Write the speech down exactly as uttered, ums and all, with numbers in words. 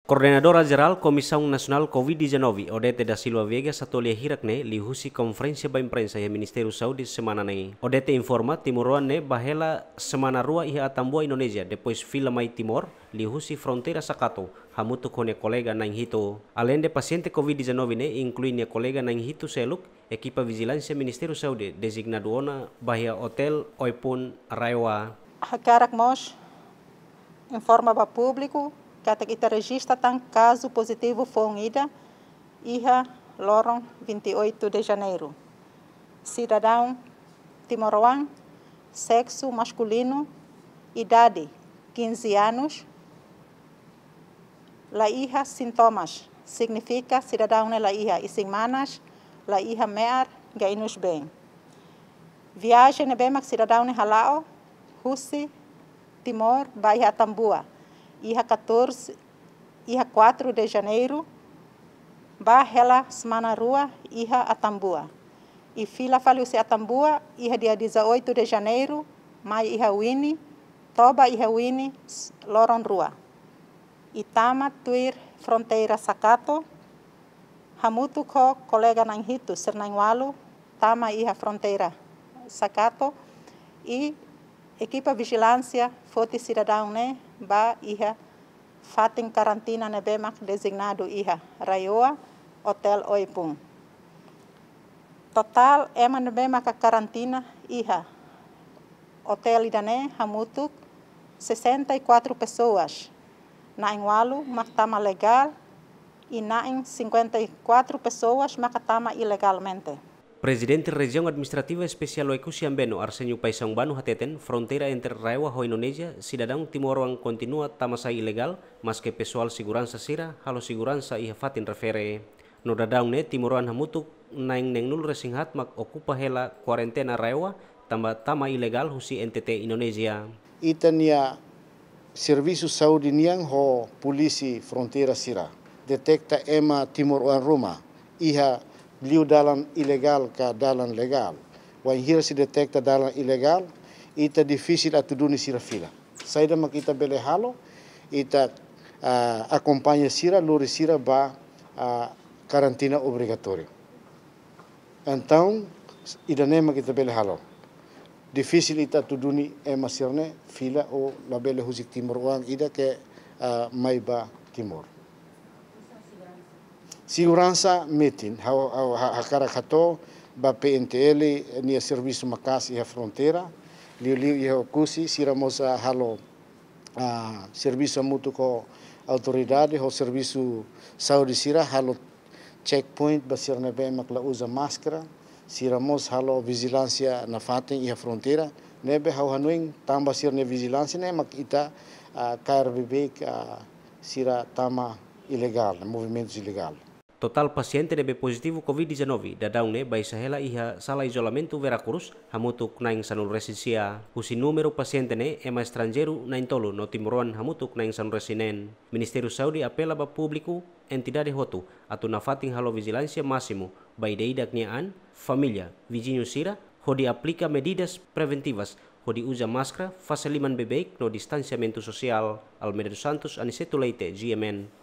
Koordenadora Jerál Komisaun Nasionál Covid dezanove, Odete da Silva Viegas, hato'o lia hirak ne'e liuhusi konferénsia ba imprensa iha Ministériu Saúde semana ne'e. Odete informa, timoroan ne'e bá hela semana rua iha Atambua, Indonézia, depois fila mai Timor, liuhusi fronteira Sakato, hamutuk ho nia kolega na'in hitu. Aleinde pasiente Covid dezanove ne'e, inklui nia kolega na'in hitu seluk, ekipa vijilánsia Ministériu Saúde dezignadu ona bá iha Otél Oepun RAEOA. Hakarak mós informa ba públiku katak ita rejista tan kazu pozitivu foun ida iha loron vinte e oito de Janeiro. Sidadaun timoroan, seksu maskulinu, idade quinze anos, la iha sintomas, signifika sidadaun ne'e la iha isin-manas, la iha me'ar, gainus-been. Viajen ne'ebé mak sidadaun ne'e hala'o husi Timor bá iha Atambua, iha catorze, iha quatro de Janeiro, bá hela semana rua iha Atambua. I fila fali husi Atambua, iha dia dezoito de Janeiro, mai iha Wini, toba iha Wini, s-, loron rua. I tama tuir fronteira Sakato, hamutuk ho kolega na'in hitu, sira na'in ualu, tama iha fronteira Sakato, i ekipa vijilánsia foti sidadaun ne'e bá iha fatin karantina ne'ebé mak dezignadu iha RAEOA, Otél Oepun. Totál ema ne'ebé maka karantina iha otél ida-ne'e hamutuk sessenta e quatro pessoas. Na'in ualu mak tama legál i na'in cinquenta e quatro pessoas maka tama ilegalmente. Prezidente Rejiaun Administrativa Espesiál Oekusi Ambeno, Arsenio Paixão Bano, hateten, fronteira entre RAEOA ho Indonézia, sidadaun timoroan kontinua tama sai ilegál, maske pesoál seguransa sira halo seguransa iha fatin refere. No daudaun ne'e, timoroan hamutuk na'in neenulu-resin-haat mak okupa hela kuarentena RAEOA, tanba tama ilegál husi N T T Indonézia. Ita-nia servisu saúde nian ho polísia fronteira sira detekta ema timoroan ruma iha liu dalan ilegál ka dalan legál. Wainhira sei detekta dalan ilegál, ita difisil atu duni sira fila. Saida mak ita bele halo, ita, ah, akompaña sira, lori sira ba, ah, karantina obrigatóriu. Entaun, ida-ne'e mak ita bele halo. Difisil ita atu duni ema sira-ne'e fila ou labele husik timoroan ida ke, ah, mai ba Timor. Seguransa metin, ha'u, ha'u, ha-, hakarak hato'o ba P N T L nia servisu maka'as iha fronteira, liuliu iha Oekusi, sira mós, ah, halo, ah, servisu hamutuk ho autoridade, ho servisu saúde sira, halo checkpoint ba sira ne'ebé mak la uza máskara, sira mós halo vijilánsia nafatin iha fronteira, ne'ebé ha'u hanoin tanba sira-nia vijilánsia ne'e mak ita, ah, kaer beibeik, ah, sira tama ilegál, movimentus ilegál. Totál pasiente ne'ebé pozitivu Covid dezanove daudaun ne'e baixa hela iha sala izolamentu Vera Cruz, hamutuk na'in sanulu-resin-sia. Husi númeru pasiente ne'e, ema estranjeiru na'in-tolu no timoroan hamutuk na'in sanulu-resin-neen. Ministériu Saúde apela ba públiku, entidade hotu, atu nafatin halo vijilánsia másimu ba ida-idak nia an, família, viziñu sira, hodi aplika medidas preventivas, hodi uza máskara, fase liman beibeik no distansiamentu sosiál. Almeida dos Santos, Aniceto Leite, G M N.